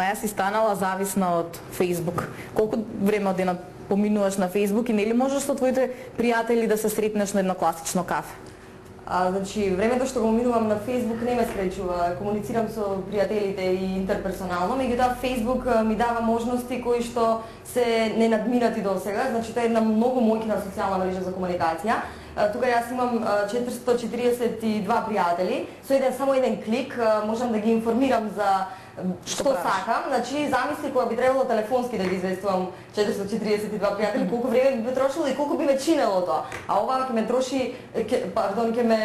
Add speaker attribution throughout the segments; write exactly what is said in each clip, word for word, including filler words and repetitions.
Speaker 1: Маја си станала зависна од Facebook. Колку време од денот поминуваш на Facebook и нели можеш со твоите пријатели да се сретнеш на едно класично кафе?
Speaker 2: А, значи, времето што го минувам на Facebook не ме спречува. Комуницирам со пријателите и интерперсонално, меѓутоа Facebook ми дава можности кои што се ненадминати досега. Значи, тоа е една многу моќна социјална мрежа за комуникација. Тука јас имам четиристотини и четиридесет и два пријатели. Со еден само еден клик можам да ги информирам за што сакам. Значи, замисли кога би требало телефонски да ги известувам четиристотини и четиридесет и два пријатели, колку време би ме трошило и колку би ме чинело тоа. А ова ќе ме троши, ке, пардон, ќе ме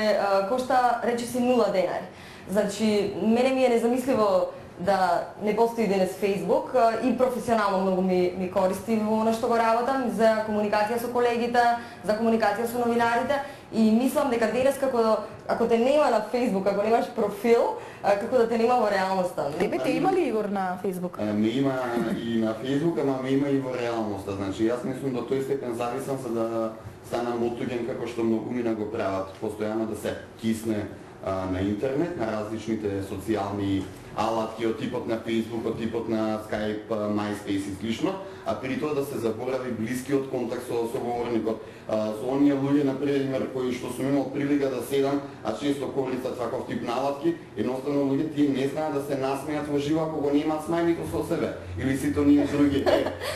Speaker 2: кошта речиси нула денари. Значи, мене ми е незамисливо да не постои денес Facebook и професионално многу ми, ми користи во она што го работам, за комуникација со колегите, за комуникација со новинарите и мислам дека денес како ако те нема на Facebook, ако немаш профил, како да те нема во реалноста.
Speaker 1: Тебе те има ли, Игор, на Facebook?
Speaker 3: Ме има и на Facebook, ама ме има и во реалноста. Значи јас мислам до тој степен зависам за да станам отуѓен како што многумина го прават, постојано да се кисне а, на интернет, на различните социјални алатки од типот на Facebook, од типот на Skype, MySpace и слично, а при тоа да се заборави блискиот контакт со соговорникот. Со оние луѓе, например, кои што сум имал прилика да седам, а често користат ваков тип на алатки, едноставно луѓе тие не знаат да се насмејат во живо ако го немаат смајлито со себе. Или сите оние други.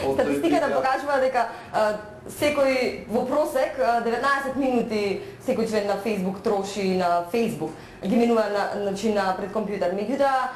Speaker 2: Статистиката покажува дека секој во просек деветнаесет минути секој член на Facebook троши на Facebook, ги минува на, значи, на пред компјутер. Меѓутоа,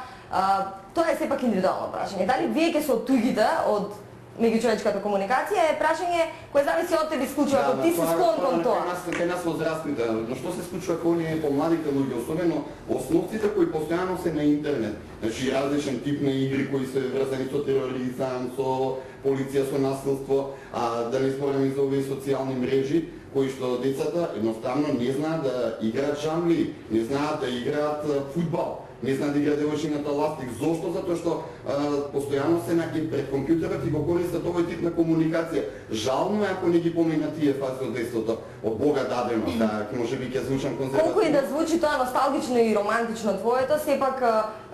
Speaker 2: тоа е сепак индивидуално прашање. Дали вие ќе се оттуѓите од меѓучовечката комуникација е прашање кое зависи од тебе исклучува, ако ти си склон кон тоа.
Speaker 3: Кај нас возрастните, но што се случува кога оние помладите луѓе, особено основците кои постојано се на интернет. Значи различен тип на игри кои се врзани со тероризам, со полиција, со насилство, а да не зборам и за овие социјални мрежи, кои што децата едноставно не знаат да играат жамли, не знаат да играат фудбал, не знаат да играат девојчината ластик. Зошто? Затоа што а, постојано се на пред компјутерот и го користат овој тип на комуникација. Жално е ако не ги помина тие фази од детството, од Бога дадено, да можеби ќе звучам конзервативно.
Speaker 2: Колку и да звучи тоа носталгично и романтично твоето, сепак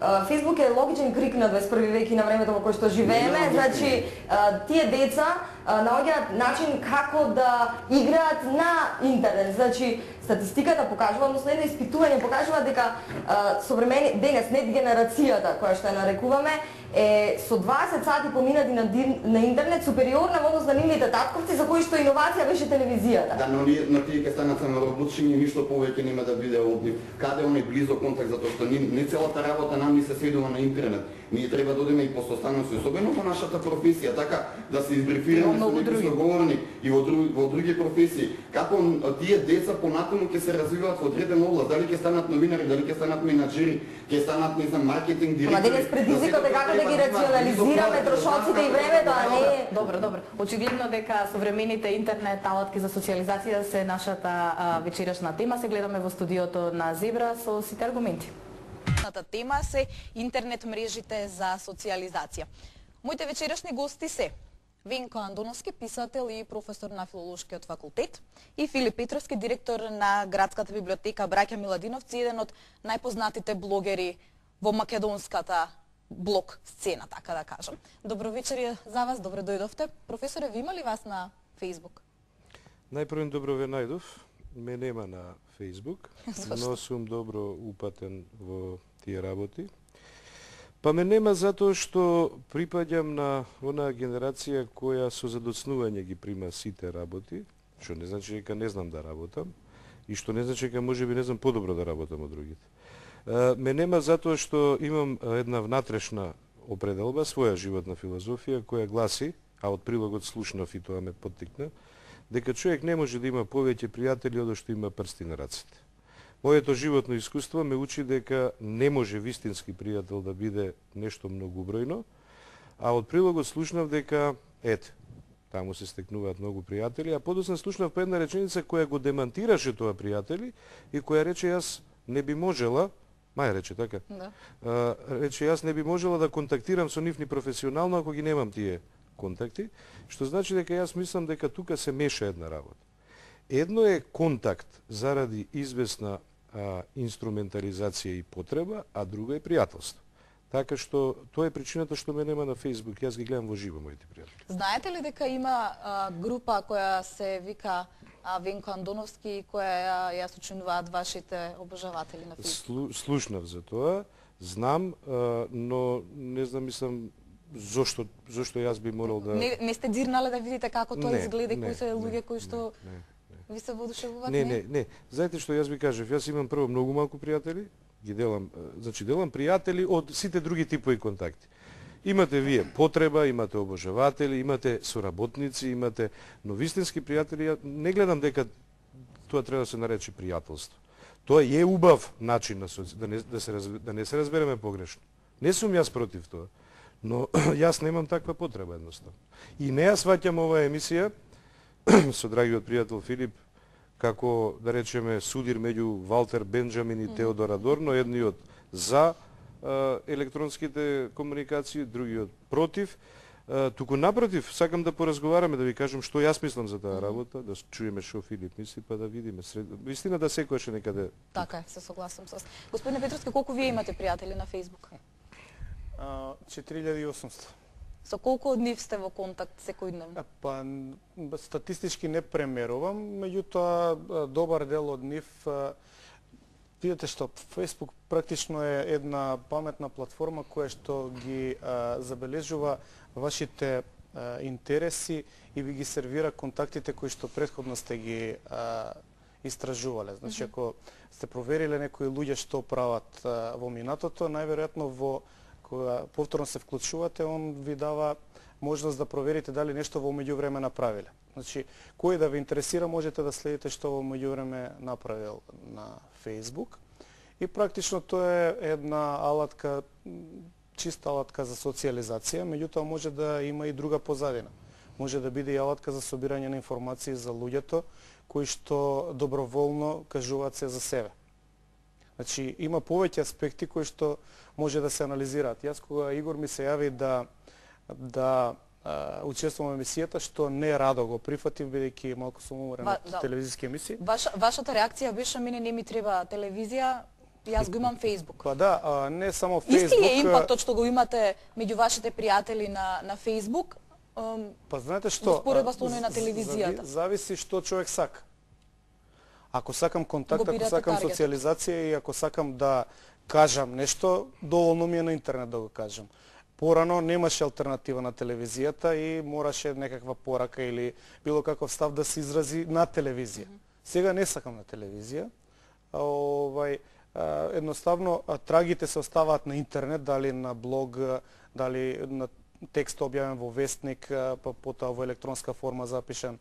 Speaker 2: Facebook е логичен крик на дваесет и први век и на времето во кое што живееме. Значи, тие деца наоѓаат начин како да играат на интернет. Значи, статистиката покажува, односно едно испитување покажува дека современи денес нет генерацијата која што ја нарекуваме е со дваесет сати поминати на, на интернет супериорна во однос на нивните татковци за кои што иновација беше телевизијата.
Speaker 3: Да, но, но тие ќе станат само работчиња, ништо повеќе нема да биде од нив. Каде оној близок контакт, затоа што не, не целата работа нам ни се сведува на интернет. Ние треба да одиме и постојано, особено во нашата професија, така да се избрифираме со некои соговорни и во други, во други професии. Како тие деца понатаму ќе се развиваат во одредена област, дали ќе станат новинари, дали ќе станат менаџери, ќе станат, не знам, маркетинг директори.
Speaker 2: Ама денес предизвикот е како да ги рационализираме трошоците и времето, а не...
Speaker 1: Добро, добро. Очигледно дека современите интернет алатки за социализација се нашата а, вечерашна тема. Се гледаме во студиото на Зебра со сите аргументи.
Speaker 4: Нашата тема се интернет мрежите за социализација. Моите вечерашни гости се Венко Андоновски, писател и професор на филолошкиот факултет, и Филип Петровски, директор на градската библиотека Браќа Миладиновци, еден од најпознатите блогери во македонската блог сцена, така да кажам. Добро вечер за вас, добре дојдовте. Професоре, ви има ли вас на Facebook?
Speaker 5: Најпрво добро ве најдов. Ме нема на Facebook, но сум добро упатен во тие работи. Па ме нема затоа што припаѓам на онаа генерација која со задоцнување ги прима сите работи, што не значи дека не знам да работам, и што не значи дека можеби не знам подобро да работам од другите. Ме нема затоа што имам една внатрешна определба, своја животна филозофија, која гласи, а од прилогот слушнав и тоа ме поттикна, дека човек не може да има повеќе пријатели од што има прсти на рацете. Моето животно искуство ме учи дека не може вистински пријател да биде нешто многу бројно, а од прилогот слушнав дека, ете, таму се стекнуваат многу пријатели, а подоцна слушнав по една реченица која го демантираше тоа пријатели и која рече јас не би можела, Маја рече така,
Speaker 4: да.
Speaker 5: а, рече јас не би можела да контактирам со нив ни професионално ако ги немам тие контакти, што значи дека јас мислам дека тука се меша една работа. Едно е контакт заради известна а, инструментализација и потреба, а друго е пријателство. Така што тоа е причината што ме нема на Facebook, јас ги гледам во живо моите пријатели.
Speaker 4: Знаете ли дека има а, група која се вика а, Венко Андоновски, која ја, ја сочинуваат вашите обожаватели на Facebook?
Speaker 5: Слу, слушнав за тоа, знам, а, но не знам, мислам, зошто зошто јас би морал да
Speaker 4: Не, не сте дзирнале да видите како тоа
Speaker 5: Не,
Speaker 4: изгледа и
Speaker 5: не,
Speaker 4: кои се
Speaker 5: не,
Speaker 4: луѓе кои што
Speaker 5: не, не.
Speaker 4: ви се воодушевуваат?
Speaker 5: Не, не, не. Знаете што јас ви кажав, јас имам прво многу малку пријатели, ги делам, значи делам пријатели од сите други типови контакти. Имате вие потреба, имате обожаватели, имате соработници, имате, но вистински пријатели, ја не гледам дека тоа треба да се нарече пријателство. Тоа е убав начин на соци... да не да се раз... да не се разбереме погрешно. Не сум јас против тоа, но јас немам таква потреба едноставно. И не ја сваќам оваа емисија со драгиот пријател Филип како, да речеме, судир меѓу Валтер Бенџамин и Теодор Адорно, едниот за а, електронските комуникации, другиот против. А, туку напротив, сакам да поразговараме, да ви кажам што јас мислам за таа работа, да чуеме што Филип мисли, па да видиме. Сред... Вистина да секојаш е некаде.
Speaker 4: Така е, се согласам со вас. Господине Петровски, колку вие имате пријатели на Facebook?
Speaker 6: четири илјади и осумстотини.
Speaker 4: Со колку од нив сте во контакт секојдневно?
Speaker 6: Па, статистички не премерувам, меѓутоа добар дел од нив, видите што, Facebook практично е една паметна платформа која што ги а, забележува вашите а, интереси и ви ги сервира контактите кои што претходно сте ги а, истражувале. Значи, ако сте провериле некои луѓе што прават а, во минатото, најверојатно во кога повторно се вклучувате, он ви дава можност да проверите дали нешто во меѓувреме направиле. Значи, кој да ви интересира, можете да следите што во меѓувреме направил на Facebook. И практично тоа е една алатка, чиста алатка за социјализација, меѓутоа може да има и друга позадина. Може да биде и алатка за собирање на информации за луѓето кои што доброволно кажуваат се за себе. Значи, има повеќе аспекти кои што може да се анализираат. Јас кога Игор ми се јави да да а, учествувам во емисијата, што не радо го прифатив, бидејќи малку сум уморен
Speaker 4: Ва,
Speaker 6: од
Speaker 4: да.
Speaker 6: телевизиски емисии.
Speaker 4: Ваша, вашата реакција беше, мене не ми треба телевизија, јас го имам Facebook.
Speaker 6: Па да, а, не само Facebook.
Speaker 4: Исти е импактот што го имате меѓу вашите пријатели на, на Facebook, ем,
Speaker 6: Па знаете што?
Speaker 4: споредба со оној на телевизијата.
Speaker 6: Зависи што човек сака. Ако сакам контакт, ако
Speaker 4: бирате
Speaker 6: сакам
Speaker 4: таргет.
Speaker 6: социјализација и ако сакам да кажам нешто, доволно ми е на интернет да го кажам. Порано немаше алтернатива на телевизијата и мораше некаква порака или било каков став да се изрази на телевизија. Сега не сакам на телевизија. А, овај, а, едноставно а, трагите се оставаат на интернет, дали на блог, дали на текст објавен во вестник, па потоа во електронска форма запишан